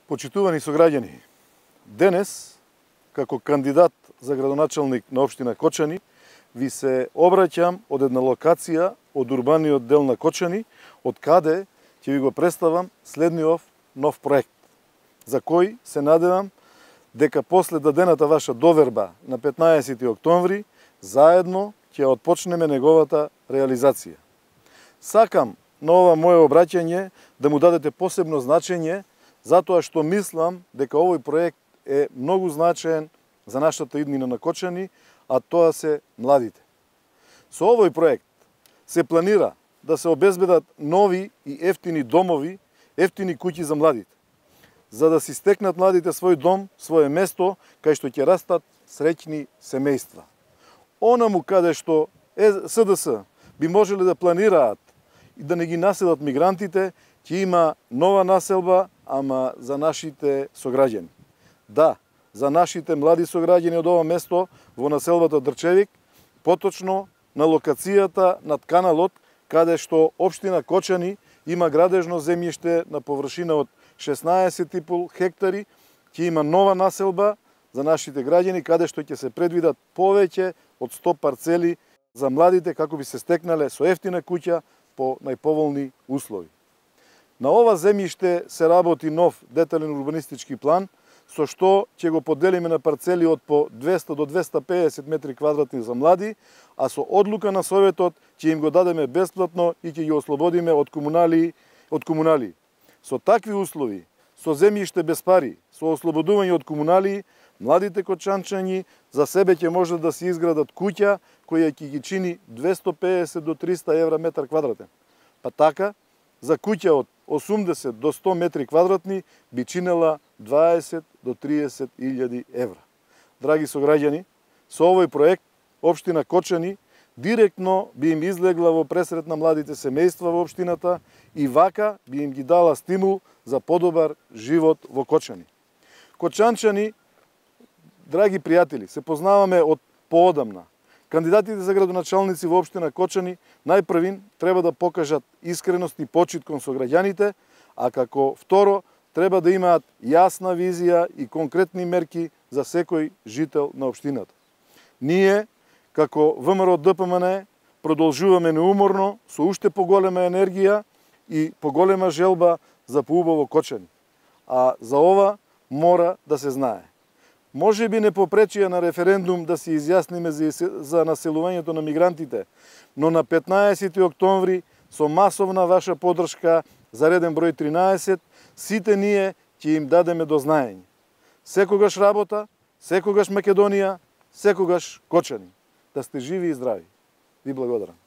Почитувани сограѓани, денес, како кандидат за градоначалник на општина Кочани, ви се обраќам од една локација од урбаниот дел на Кочани, од каде ќе ви го представам следниот нов проект, за кој се надевам дека после дадената ваша доверба на 15 октомври, заедно ќе отпочнеме неговата реализација. Сакам на ова моје обраќање да му дадете посебно значење, затоа што мислам дека овој проект е многу значаен за нашата иднина на Кочани, а тоа се младите. Со овој проект се планира да се обезбедат нови и ефтини домови, ефтини куќи за младите, за да си стекнат младите свој дом, свое место, кај што ќе растат среќни семејства. Онаму каде што СДС би можеле да планираат и да не ги населат мигрантите, ќе има нова населба, ама за нашите сограѓани. Да, за нашите млади сограѓани од ова место во населбата Дрчевик, поточно на локацијата над каналот, каде што општина Кочани има градежно земјиште на површина од 16,5 хектари, ќе има нова населба за нашите граѓани, каде што ќе се предвидат повеќе од 100 парцели за младите, како би се стекнале со ефтина куќа по најповолни услови. На ова земјиште се работи нов детален урбанистички план, со што ќе го поделиме на парцели од по 200 до 250 метри квадратни за млади, а со одлука на Советот ќе им го дадеме бесплатно и ќе ги ослободиме од комунали. Со такви услови, со земјиште без пари, со ослободување од комунали, младите кочанчани за себе ќе може да си изградат куќа која ќе ги чини 250 до 300 евра метар квадратен. Па така, за куќа од 80 до 100 метри квадратни би чинела 20 до 30 илјади евра. Драги сограѓани, со овој проект општина Кочани директно би им излегла во пресрет на младите семејства во општината и вака би им ги дала стимул за подобар живот во Кочани. Кочанчани, драги пријатели, се познаваме од поодамна. Кандидатите за градоначалници во општина Кочани најпрвин треба да покажат искреност и почит кон сограѓаните, а како второ треба да имаат јасна визија и конкретни мерки за секој жител на општината. Ние, како ВМРО ДПМН, продолжуваме неуморно со уште поголема енергија и поголема желба за поубаво Кочани. А за ова мора да се знае. Може би не попречија на референдум да се изјасниме за населувањето на мигрантите, но на 15 октомври со масовна ваша подршка за реден број 13, сите ние ќе им дадеме до знаење. Секогаш работа, секогаш Македонија, секогаш Кочани. Да сте живи и здрави. Ви благодарам.